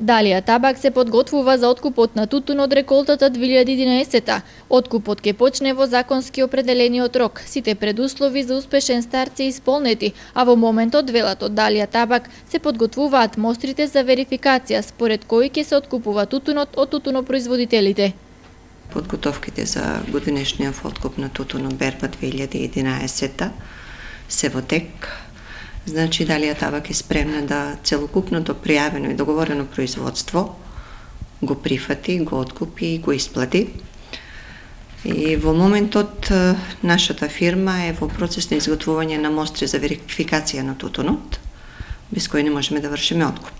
Далија Табак се подготвува за откупот на тутун од реколтата 2011. Откупот ќе почне во законски определениот рок. Сите предуслови за успешен старт се исполнети, а во моментот, велат од Далија Табак, се подготвуваат мострите за верификација, според кои ќе се откупува тутунот од тутунопроизводителите. Подготовките за годинешниот откуп на тутун од берба 2011 се во тек. Значи, Далија Табак е спремна да целокупното пријавено и договорено производство го прифати, го откупи и го исплати. И во моментот нашата фирма е во процес на изготвување на мостри за верификација на тутунот, без кои не можеме да вршиме откуп.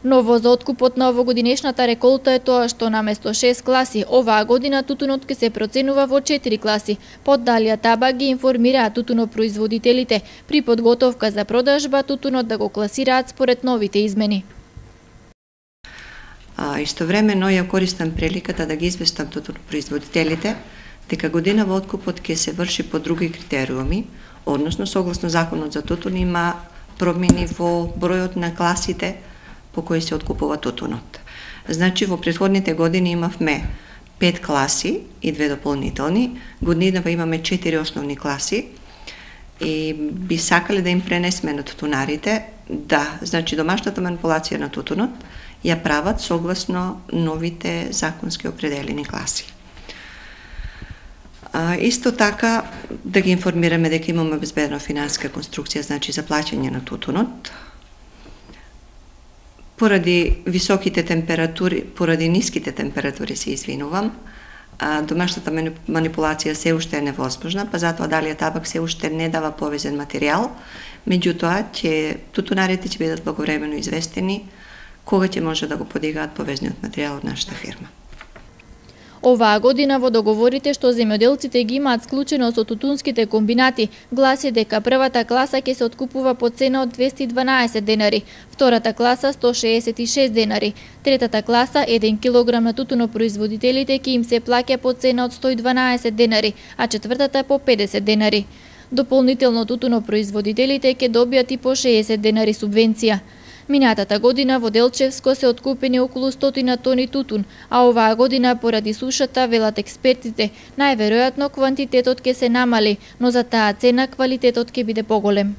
Ново за откупот на овогодинешната реколта е тоа што наместо 6 класи, оваа година тутунот ќе се проценува во 4 класи. Под Далија Табак ги информираа тутунопроизводителите при подготовка за продажба тутунот да го класираат според новите измени. Истовремено ја користам приликата да ги известам тутунопроизводителите дека година во откупот ќе се врши по други критериуми, односно согласно законот за тутун има промени во бројот на класите по кои се откупува тутунот. Значи, во претходните години имавме 5 класи и 2 дополнителни. Годинава имаме 4 основни класи и би сакале да им пренесме на тутунарите да, значи, домашната манипулација на тутунот ја прават согласно новите законски определени класи. Исто така, да ги информираме дека имаме безбедна финансиска конструкција, значи, за плаќање на тутунот. Поради високите температури, поради ниските температури се извинувам, домашната манипулација се уште е невозможна, па затоа Далија Табак се уште не дава повезен материјал, меѓутоа тутунарите ќе бидат благовремено известени кога ќе може да го подигаат повезниот материјал од нашата фирма. Оваа година во договорите што земјоделците ги имаат склучено со тутунските комбинати, гласи дека првата класа ќе се откупува по цена од 212 денари, втората класа 166 денари, третата класа 1 килограм на тутунопроизводителите ќе им се плаќа по цена од 112 денари, а четвртата по 50 денари. Дополнително тутунопроизводителите ќе добијат и по 60 денари субвенција. Минатата година во Делчевско се откупени околу 100 тони тутун, а оваа година поради сушата, велат експертите, најверојатно квантитетот ќе се намали, но за таа цена квалитетот ќе биде поголем.